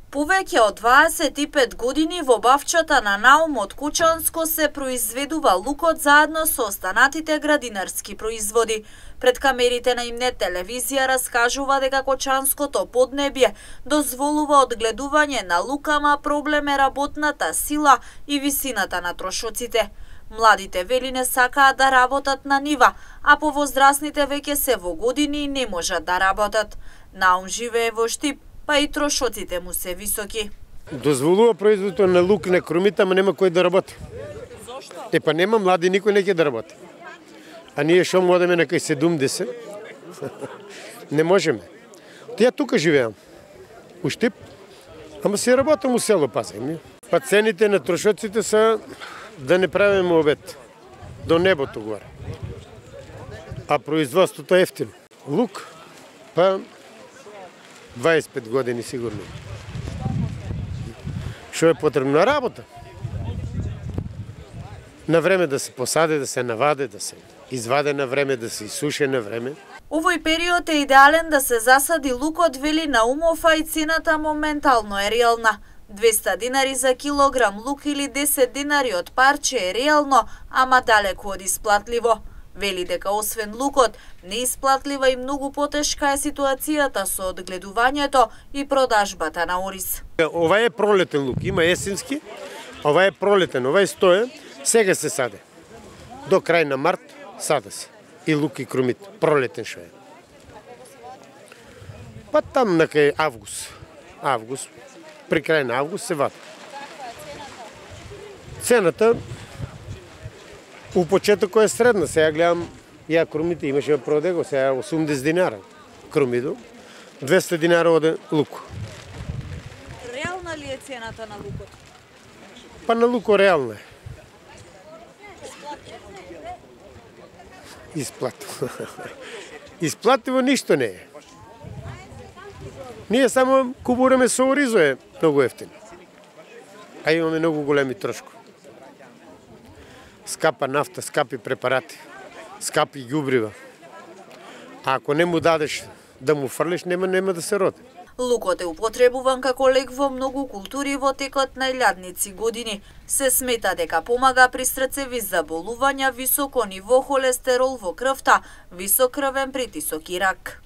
Повеќе од 25 години во бавчата на Наум од Кучанско се произведува лукот заедно со останатите градинарски производи. Пред камерите на Имнет телевизија раскажува дека Кочанското поднебје дозволува одгледување на лукама, проблем е работната сила и висината на трошоците. Младите вели не сакаат да работат на нива, а повозрасните веќе се во години и не можат да работат. Наум живее во Штип, па и трошоците му се високи. Дозволува производството на лук, на крумита, ама нема кој да работи. Зошто? Па нема млади, никој не ќе да работи. А ние шо модеме на кај 70, не можеме. Тија тука живеам, у Штип, ама се работам у село, пазем. Па цените на трошоците са да не правиме обед, до небото горе. А производството е ефтино. Лук, па 25 години сигурно. Што е потребна работа? На време да се посаде, да се наваде, да се изваде на време, да се исуше на време. Овој период е идеален да се засади лукот, вели Наумов, а и цената моментално е реална. 200 динари за килограм лук или 10 динари од парче е реално, ама далеку од исплатливо. Вели дека освен лукот, неисплатлива и многу потешка е ситуацијата со одгледувањето и продажбата на ориз. Ова е пролетен лук, има есенски, ова е пролетен, ова е стоен, сега се саде. До крај на март саде се. И лук и крумит, пролетен шо е. Па там на кај август, при крај на август се вади. Цената у почетокот е средна, сега гледам, ја крумите имаше да продего, сега 80 динара крумидо, 200 динара оде лук. Реална ли е цената на лукот? Па на луко реална е. Исплативо. Исплативо ништо не е. Ние само купуваме со оризо е многу ефтино. А имаме многу големи трошкови. Скапа нафта, скапи препарати, скапи ѓубрива. А ако не му дадеш да му фрлиш, нема да се роди. Лукот е употребуван како лек во многу култури во текот на илјадници години. Се смета дека помага при срцеви заболувања, високо ниво холестерол во крвта, висок крвен притисок и рак.